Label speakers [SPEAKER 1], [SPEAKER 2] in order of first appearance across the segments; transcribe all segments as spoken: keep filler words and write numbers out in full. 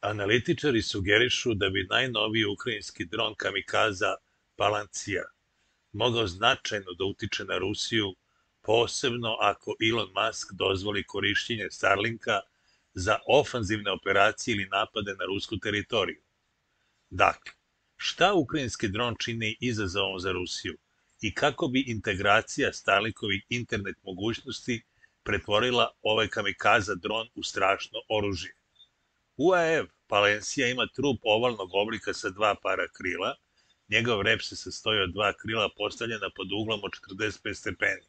[SPEAKER 1] Analitičari sugerišu da bi najnoviji ukrajinski dron kamikaza Palancija mogao značajno da utiče na Rusiju, posebno ako Elon Musk dozvoli korišćenje Starlinka za ofanzivne operacije ili napade na rusku teritoriju. Dakle, šta ukrajinski dron čini izazovom za Rusiju i kako bi integracija Starlinkovih internet mogućnosti pretvorila ovaj kamikaza dron u strašno oružje? U A E V Palancija ima trup ovalnog oblika sa dva para krila. Njegov rep se sastoji od dva krila postavljena pod uglom od četrdeset pet stepeni.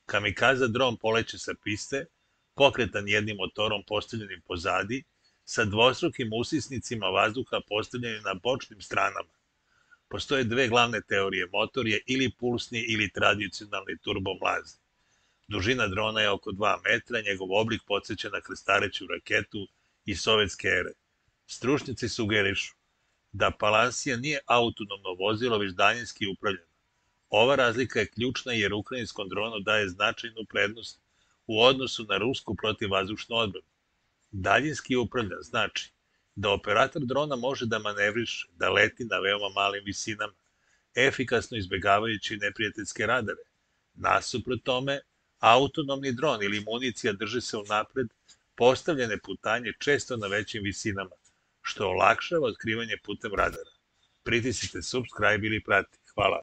[SPEAKER 1] Kamikaza dron poleće sa piste, pokretan jednim motorom postavljenim pozadi, sa dvostrukim usisnicima vazduha postavljenim na bočnim stranama. Postoje dve glavne teorije. Motor je ili pulsni ili tradicionalni turbomlazni. Dužina drona je oko dva metra, njegov oblik podsjeća na krstareću raketu iz sovjetske ere. Stručnjaci sugerišu da Palancija nije autonomno vozilo, već daljinski upravljeno. Ova razlika je ključna jer ukrajinskom dronu daje značajnu prednost u odnosu na rusku protivvazdušnu odbranu. Daljinski upravljan znači da operator drona može da manevriše, da leti na veoma malim visinama, efikasno izbegavajući neprijateljske radare. Nasuprot tome, autonomni dron ili municija drže se unapred postavljene putanje često na većim visinama, što olakšava otkrivanje putem radara. Pritisnite subscribe ili prati. Hvala.